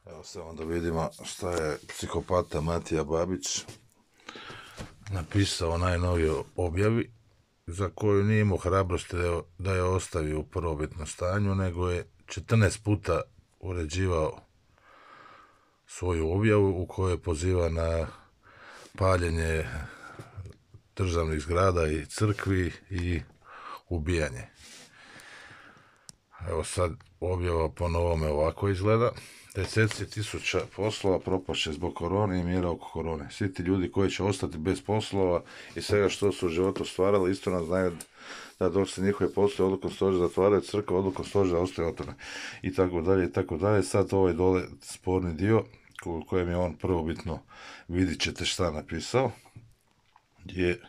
Evo samo da vidimo šta je psihopata Matija Babić napisao u najnovijoj objavi, za koju nije imao hrabrosti da je ostavi u prvobitnom stanju, nego je 14 puta uređivao svoju objavu u kojoj poziva na paljenje državnih zgrada i crkvi i ubijanje. Evo sad objava po novome ovako izgleda. Deseci tisuća poslova propašće zbog korone i mjera oko korone. Svi ti ljudi koji će ostati bez poslova i svega što su u životu stvarali, isto nas znaju da dok se njihove poslove odlukom stožera zatvaraju, crkva odlukom stožera ostaje otvorena. I tako dalje, i tako dalje. Sad ovaj dole sporni dio, u kojem je on prvobitno, vidit ćete šta napisao, je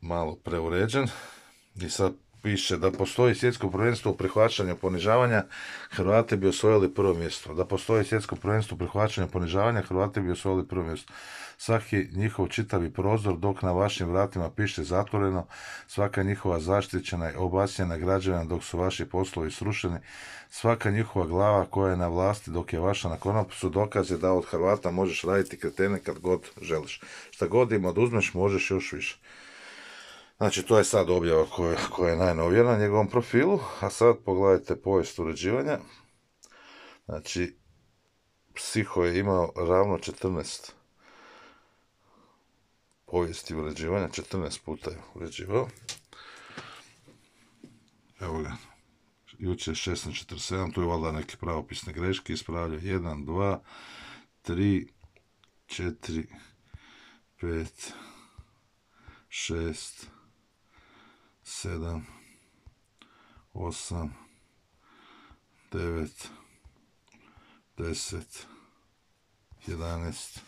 malo preuređen. I sad piše da postoji svjetsko prvenstvo u prihvaćanju ponižavanja, Hrvati bi osvojili prvo mjesto. Da postoji svjetsko prvenstvo u prihvaćanju ponižavanja, Hrvati bi osvojili prvo mjesto. Svaki njihov čitavi prozor, dok na vašim vratima piše zatvoreno, svaka njihova zaštićena i obasjena građevina dok su vaši poslovi srušeni, svaka njihova glava koja je na vlasti dok je vaša na konopu, dokaz je da od Hrvata možeš raditi kretene kad god želiš. Šta god im oduzmeš, možeš još više. Znači, to je sad objava koja je najnovija na njegovom profilu, a sad pogledajte povijest uređivanja. Znači, Psiho je imao ravno 14 povijesti uređivanja, 14 puta je uređivao. Evo ga, jučer 16:47, tu je valjda neke pravopisne greške, ispravljaju 1, 2, 3, 4, 5, 6, 7, 8, 9, 10, 11,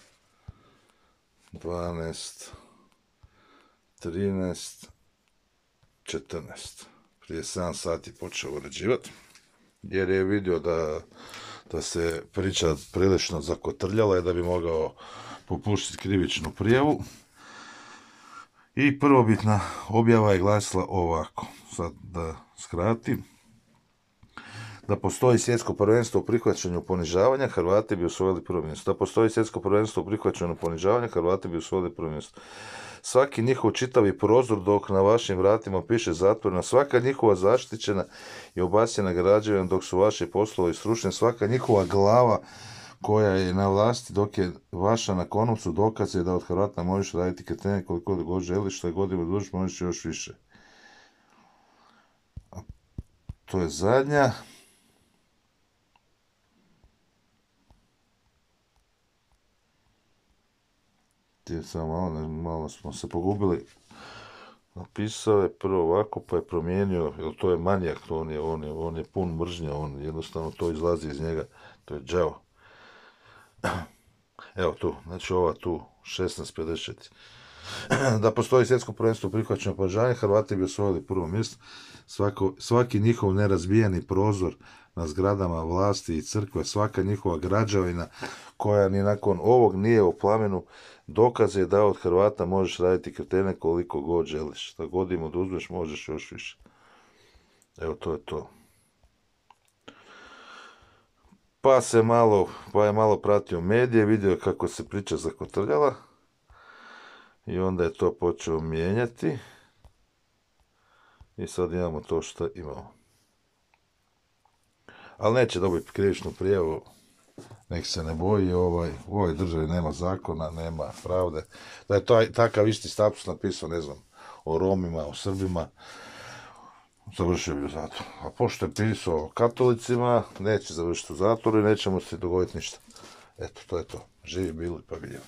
12, 13, 14. Prije 7 sati počeo uređivati, jer je vidio da se priča prilično zakotrljala i da bi mogao popuštiti krivičnu prijavu. I prvobitna objava je glasila ovako, sad da skratim. Da postoji svjetsko prvenstvo u prihvaćanju ponižavanja, Hrvati bi osvojili prvo mjesto. Da postoji svjetsko prvenstvo u prihvaćanju ponižavanja, Hrvati bi osvojili prvo mjesto. Svaki njihov čitavi prozor dok na vašim vratima piše zatvorena, svaka njihova zaštićena i obasjena građevina dok su vaši poslovi srušeni, svaka njihova glava koja je na vlasti dok je vaša na konopcu, dokaz je da od Hrvata možeš raditi kretene koliko god želiš, što je godinu duž, možeš još više. A to je zadnja. Malo smo se pogubili. Napisao je prvo ovako, pa je promijenio, jer to je manijak, on je pun mržnja, on jednostavno to izlazi iz njega, to je đavo. Evo tu, znači ova tu, 16:54. Da postoji svjetsko prvenstvo u prihvaćanju ponižavanja, Hrvati bi osvojili prvo mjesto. Svaki njihov nerazbijeni prozor na zgradama vlasti i crkve, svaka njihova građevina koja ni nakon ovog nije u plamenu, dokaz je da od Hrvata možeš raditi kretene koliko god želiš. Šta god im oduzmeš, možeš još više. Evo, to je to. Pa je malo pratio medije, vidio kako se priča zakotrljala i onda je to počeo mijenjati i sad imamo to što imamo. Ali neće dobiti krivičnu prijavu, nek se ne boji, u ovoj državi nema zakona, nema pravde. Da je takav isti status napisao, ne znam, o Romima, o Srbima, završio bi u zatvoru. A pošto je pisao o katolicima, neće završiti u zatvoru i neće mu se dogoditi ništa. Eto, to je to. Živi bili pa vidjeli.